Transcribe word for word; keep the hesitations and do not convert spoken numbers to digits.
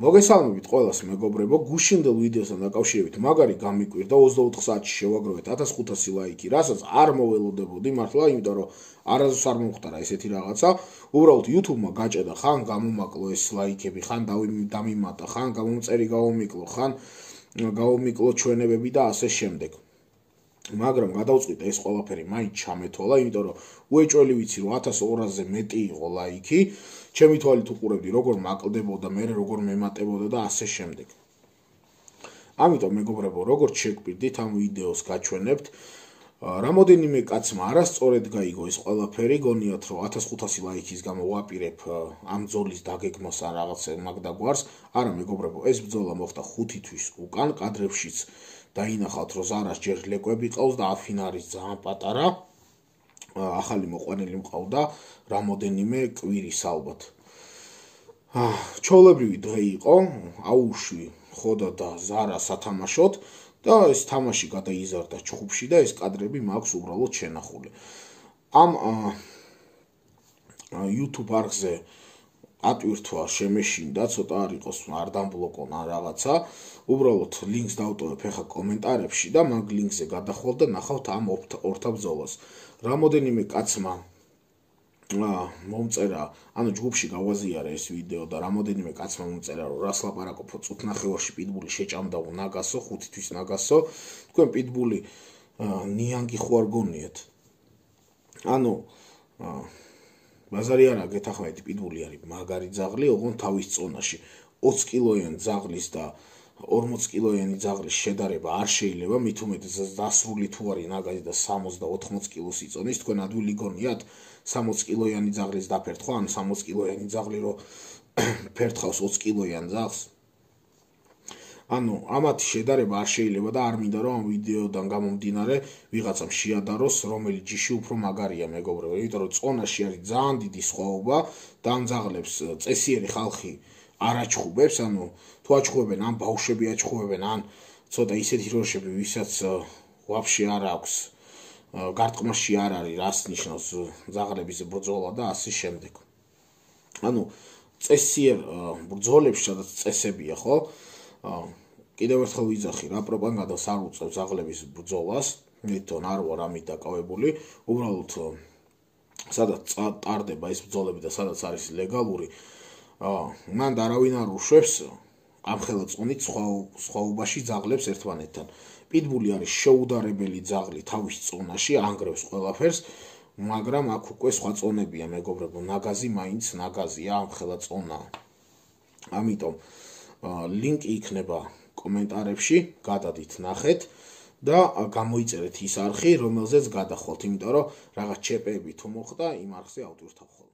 მოგესალმებით ყველას მეგობრებო, გუშინდელ ვიდეოსთან დაკავშირებით მაგარი გამიკვირდა ოცდაოთხ საათში შევაგროვეთ ათას ხუთასი ლაიქი, რასაც არ მოველოდებოდი მართლა, იმიტომ რომ არასდროს არ მომხდარა ესეთი რაღაცა. უბრალოდ YouTube-მა გაჭედა, ხან გამომაკლო ეს ლაიქები, ხან დამიმატა, ხან გამომწერი გავომიკლო, ხან გავომიკლო ჩვენებები და ასე შემდეგ. მაგრამ გადავწყვიტე ეს ყველაფერი მაინც ჩამეთვალა, იმიტომ რომ უეჭველი ვიცი რომ ათას ორასზე მეტი იყო ლაიქი, ჩემი თვალით უყურებდი როგორ მაკლდებოდა, მე როგორ მემატებოდა და ასე შემდეგ. ამიტომ მეგობრებო, როგორც შეგვირდით ამ ვიდეოს გაჩვენებთ, რამოდენიმე კაცმა არასწორად გაიგო ეს ყველაფერი, გონიათ რომ ათას ხუთასი ლაიქის გამო ვაპირებ ამ ბრძოლის დაგეგმას ან რაღაც მაგდაგვარს. არა მეგობრებო, ეს ბრძოლა მოხდა ხუთი თვის უკან, კადრებშიც დაინახავთ რომ ზარას ჯერ ლეკვები ყავს და აფინა არის ძალიან პატარა. ახალი მოყვანილი მყავდა რამოდენიმე კვირის ალბათ. ჩვეულებრივი დღე იყო, აუშვი ხოდა და ზარა სათამაშოდ და ეს თამაში გადაიზარდა ჩხუბში და ეს კადრები მაქვს უბრალოდ შენახული. ამ YouTube არხზე ატვირთვა შემეშინდა, ცოტა არ იყოს არ დამბლოკონ ან რაღაცა. უბრალოდ ლინკს დავტოვებ ახლა კომენტარებში და მაგ ლინკზე გადახვალ და ნახავთ ამ ორთა ბრძოლას. რამოდენიმე კაცმა მომწერა, ანუ ჯგუფში გავაზიარე ეს ვიდეო და რამოდენიმე კაცმა მომწერა, რომ რას ლაპარაკობ, წუთნახევარში პიტბული შეჭამდაო ნაგასო, ხუთი თვის ნაგასო. თქვენ პიტბული ნიანგი ხო არ გონიათ? ანუ ბაზარი არა გეთახმებით, პიტბული არის მაგარი ძაღლი, ოღონდ თავის წონაში. ოცი კილოიანი ძაღლის და ორმოცი კილოიანი ძაღლის შედარება არ შეიძლება, მით უმეტეს დასრული თუ არის ნაგაზი და სამოცი და ოთხმოცი კილოს იწონის, თქვენ ადვილი გონიათ სამოცი კილოიანი ძაღლის დაფერთხვა, ან სამოცი კილოიანი ძაღლი რო ფერთხავს ოცი კილოიან ძაღლს. ანუ ამათი შედარება არ შეიძლება და არ მინდა რომ ამ ვიდეოდან გამომდინარე ვიღაცამ შეადაროს რომელი ჯიში უფრო მაგარია მეგობრებო, იმიტომ რომ წონაში არის ძალიან დიდი სხვაობა და ამ ძაღლებს წესიერი ხალხი არ აჩხუბებს, ანუ თუ აჩხუბებენ, ან ბავშვები აჩხუბებენ, ან ცოტა ისეთი როშები, ვისაც ვაფშე არ აქვს, გარტყმაში არ არის, რას ნიშნავს ძაღლების ბრძოლა და ასე შემდეგ. ანუ წესიერ ბრძოლებში, სადაც წესებია, ხო? კიდევ ერთხელ ვიძახი, რა პროპაგანდას არ უწევ ძაღლების ბრძოლას, თვითონ არ ვარ ამით დაკავებული, უბრალოდ სადაც ტარდება ეს ბრძოლები და სადაც არის ლეგალური, მან არავინ არ უშვებს ამხელა წონით სხვაობაში ძაღლებს ერთმანეთთან. პიტბული არის შეუდარებელი ძაღლი თავის წონაში, ანგრევს ყველაფერს, მაგრამ აქ უკვე სხვა წონებია მეგობრებო, ნაგაზი მაინც ნაგაზია, ამხელა წონაა. ამიტომ ლინკი იქნება კომენტარებში, გადადით ნახეთ და გამოიწერეთ ის არხი, რომელზეც გადახვალთ, იმიტომ რომ რაღაც ჩეპები თუ მოხდა, იმ არხზე ავტვირთავ ხოლმე.